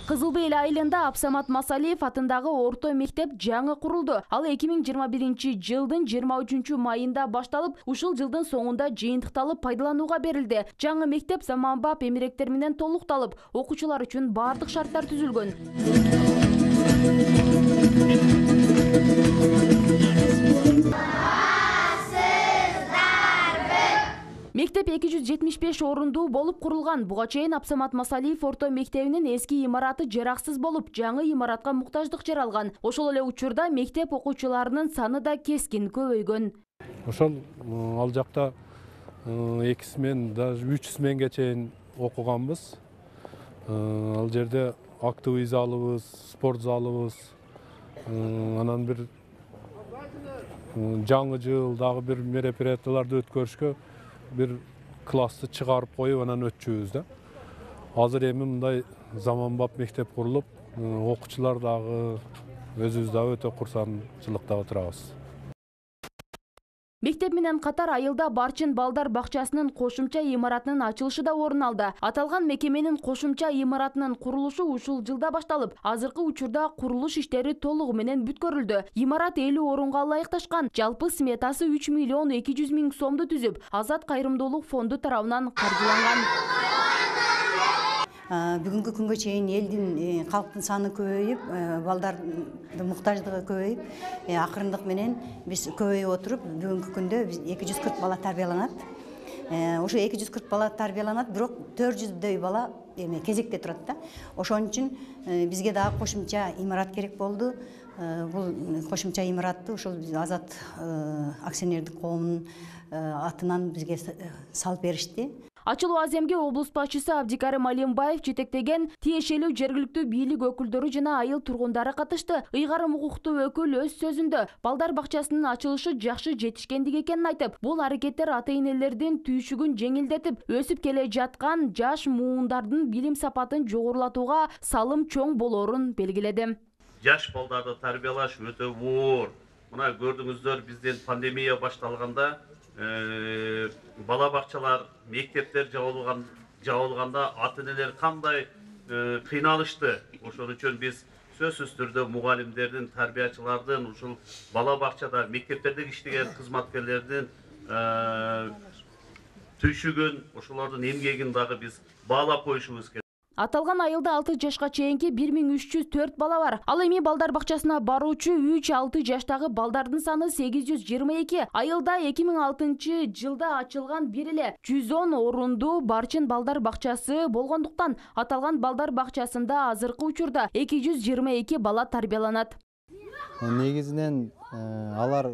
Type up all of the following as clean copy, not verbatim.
Кызыл Бел айылында Абсамат Масалиев атындагы орто мектеп жаңы курулду. Ал 2021 жылдын 23 майында башталып, ушул жылдын соңунда жыйынтыкталып пайдаланууга берилди. Жаңы мектеп заманбап эмеректер менен толукталып, окуучулар үчүн бардык шарттар түзүлгөн. Мектеп 275 орундуу болуп курулган. Буга чейин Абсамат Масалиев орто мектебинин эски имараты жараксыз болуп, жаңы имаратка муктаждык жаралган. Ошол эле учурда мектеп окуучуларынын саны да кескин көбөйгөн. Ошол ал жакта 2 смен, даже 3 сменге чейин окуганбыз. Ал жерде актовый залыбыз, спорт залыбыз, анан бир жаңы жыл дагы бир мероприятияларды өткөрүшкө бир классты чыгарып коюп анан өтчүбүз да. Азыр эми мындай заманбап мектеп курулуп, окуучулар дагы өзүбүз дагы өтө курсанчылыкта отурабыз. Мектеп менен катар айылда Барчын балдар бакчасынын кошумча имаратынын ачылышы да орун алды. Аталган мекеменин кошумча имаратынын курулушу ушул жылда башталып, азыркы учурда курулуш иштери толугу менен бүткөрүлдү. Имарат 50 орунга ылайыкташкан. Жалпы сметасы 3 миллион 200 миң сомду түзүп, Азат кайрымдуулук фонду тарабынан каржыланган. Бүгүнкү күнгө чейин элдин калктын саны көбөйүп, балдардын муктаждыгы көбөйүп, акырындык менен биз көбөйүп отуруп, бүгүнкү күндө 240 бала тарбияланат. Ошо 240 бала тарбияланат, бирок 400дөй бала кезекте турат да. Ошон үчүн бизге дагы кошумча имарат керек болду. Бул кошумча имаратты ошол Азат акционердик коомунун атынан бизге салып беришти. Ачылуу аземге облус башчысы Абдикарим Алимбаев жетектеген тиешелүү жергиликтүү бийлик өкүлдөрү жана айыл тургундары катышты. Ыйгарым укуктуу өкүл өз сөзүндө балдар бакчасынын ачылышы жакшы жетишкендик экенин айтып, бул аракеттер ата-энелердин түйшүгүн жеңилдетип, өсүп келе жаткан жаш муундардын билим сапатын жогорулатууга салым чоң болоорун белгиледи. Жаш балдарды тарбиялаш өтө оор. Мына көрдүңүздөр, бизден пандемия башталганда бала бакчалар, мектептер жабылганда ата-энелер кандай кыйналышты. Ошон үчүн биз сөзсүз түрдө мугалимдердин, тарбиячылардын, ушул бала бакчада, мектептерде иштеген кызматкерлердин түйшүгүн, ошолордун эмгегин дагы биз баалап коюшубуз керек. Аталган айылда 6 жашка чейинки 1304 бала бар. Ал эми балдар бакчасына баруучу 3-6 жаштагы балдардын саны 822. Айылда 2006 жылда ачылган бир эле 110 орундуу Барчын балдар бакчасы болгондуктан аталган балдар бакчасында азыркы учурда 222 бала тарбияланат. Негизинен алар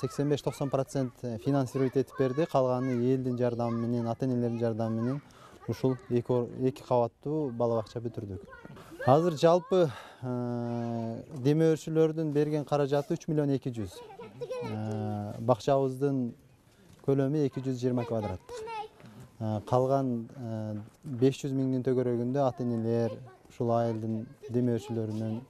85-90% финансировать этип берди. Калганы элдин жардамы менен, ата-энелердин жардамы менен ушул эки кабаттуу бала бакча бүтүрдүк. Азыр жалпы демөөрчүлөрдүн берген каражаты 3 миллион 200. Бакчабыздын көлөмү 220 квадраттык. Калган 500 миңдин төгөрөгүндө ата-энелер ушул айылдын демөөрчүлөрүнүн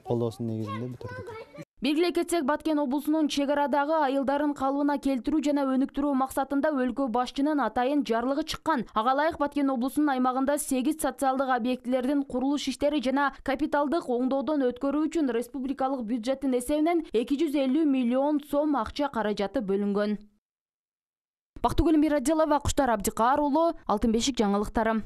колдоосунун негизинде бүтүрдүк. Белгилей кетсек, Баткен облусунун чек арадагы айылдарын калыбына келтирүү жана өнүктүрүү максатында өлкө башчынын атайын жарлыгы чыккан. Ага ылайык Баткен облусунун аймагында 8 социалдык объектилердин курулуш иштери жана капиталдык оңдоодон өткөрүү үчүн республикалык бюджеттин эсебинен 250 миллион сом акча каражаты бөлүнгөн. Бактыгүл Мирадилова, Куштар Абдикар уулу, Алтын бешик жаңылыктары.